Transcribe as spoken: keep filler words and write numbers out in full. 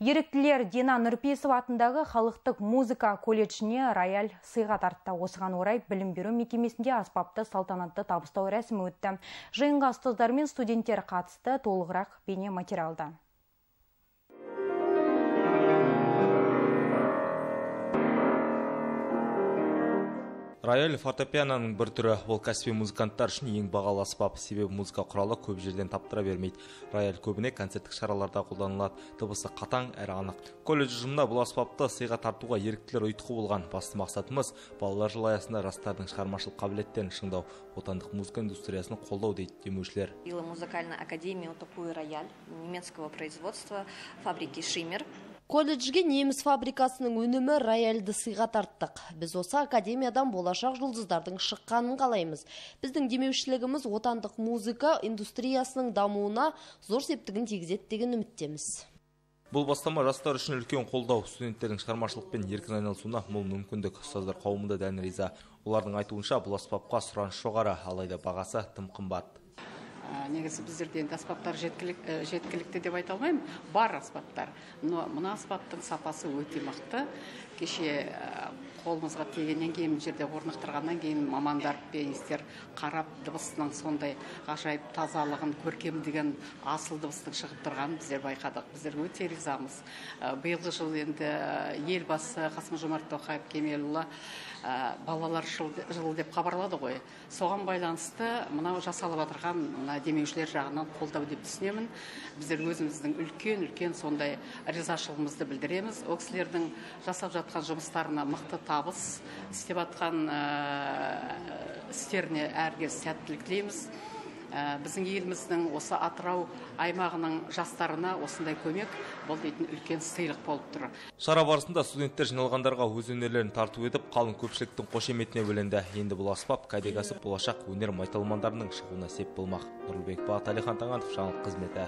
Еріктілер Дина Нұрпейісова атындағы халықтық музыка колледжіне рояль сыйға тартты. Осыған орай білім беру мекемесінде аспапты салтанатты табыстау рәсімі өтті. Жиынға ұстаздар мен студенттер қатысты. Толығырақ бейне материалда. Рояль фортепианоның бір түрі, ол кәсіби музыканттар үшін ең бағалы аспап, себебі музыка құралы көп жерден таптыра бермейді. Рояль көбіне концерттік шараларда қолданылады, дыбысы қатаң әрі анық. Колледж ұжымында бұл аспапты сыйға тартуға еріктілер ұйытқы болған. Басты мақсатымыз балалар жылы аясында жастардың шығармашылық қабілеттерін шыңдау, отандық музыка индустриясын қолдау дейді демеушілер. Музыкальная академия такой рояль немецкого производства фабрики Шиммер. Колледжге неміс фабрикасының өнімі рояльді сыйға тарттық. Біз осы академиядан болашақ жұлдыздардың шыққанын қалаймыз. Біздің демеушілігіміз отандық музыка индустриясының дамуына зор септігін тигізеді деген үміттеміз. Бұл бастама жастар үшін үлкен қолдау, студенттердің шығармашылықпен еркін айналысуына мол мүмкіндік. Ұстаздар қауымы да дән риза. Олардың айтуынша бұл аспапқа сұраныс жоғары, алайда бағасы тым қымбат. Негізі біздерде аспаптар жеткілікті деп айта алмаймын, бар аспаптар. Но мына аспаптың сапасы өте мықты. Кеше қолымызға тегеннен кейін жерде орнықтырғаннан кейін мамандар, пианистер қарап дыбысының сондай ғажайып тазалығын, көркемдігін, асыл дыбыстың шығып тұрғанын біздер байқадық. Біздер өте ризамыз. Биылғы жыл енді елбасы Қасым-Жомарт Тоқаев Кемелұлы балалар жылы деп хабарлады ғой. Соған байланысты мынау жасалып отырған демеушілер жағынан қолдау деп түсінемін. Біздер өзіміздің үлкен-үлкен сондай ризашылығымызды білдіреміз. Ол кісілердің жасап жатқан жұмыстарына мықты табыс, істеп жатқан істеріне әркез сәттілік тілейміз. Біздің еліміздің осы Атырау аймағының жастарына осындай көмек бұл дейтін үлкен сыйлық болып тұр. Шара барысында студенттер жиналғандарға өз өнерлерін тарту етіп, қалың көпшіліктің қошеметіне бөленді. Енді бұл аспап кәдеге асып болашақ өнер майталмандарының шығуына сеп болмақ. Нұрлыбек Бағат, Әлихан Таңатов, жаңалық қызметі.